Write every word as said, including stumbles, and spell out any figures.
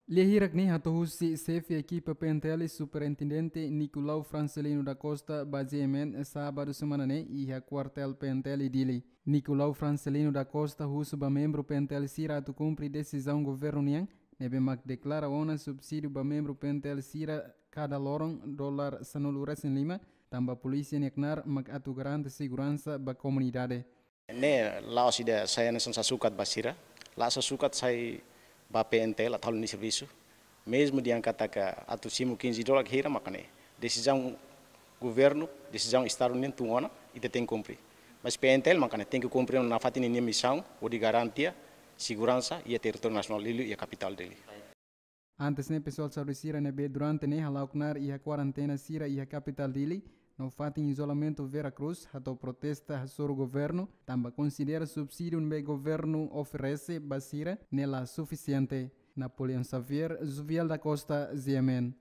Lia hirak ne'e hato'o husi xefe ekipa P N T L, Superintendente Nicolau Francelino da Costa, ba G M N, sábadu semana ne'e, iha kuartél P N T L Dili. Nicolau Francelino da Costa husu ba membru P N T L sira atu kumpre desizaun governu nian, ne'ebé mak deklara ona subsídiu ba membru P N T L sira kada loron dolar sanulu-resin-lima, tanba polísia nia knaar mak atu garante seguransa ba komunidade. Ne'e la'ós ida sai hanesan sasukat ba sira, la sasukat sai ba P N T L atu halo nia servisu. Mezmu dehan katak atu simu quinze dólar hira maka ne'e desizaun governu, desizaun Estadu nian tun ona, ita tenke kumpre. Mas P N T L maka ne'e tenke kumpre nafatin ninia misaun hodi garante seguransa iha territóriu nasionál, liuliu iha kapitál Dili. Antes ne'e, pesoál saúde sira ne'ebé durante ne'e hala'o knaar iha kuarentena sira iha kapitál Dili, no fatin izolamentu Vera Cruz, hato'o protesta hasoru governu, tanba konsidera subsídiu ne'ebé governu oferese ba sira ne'e la sufisiente. Napoleão Xavier, Juviel da Costa, G M N.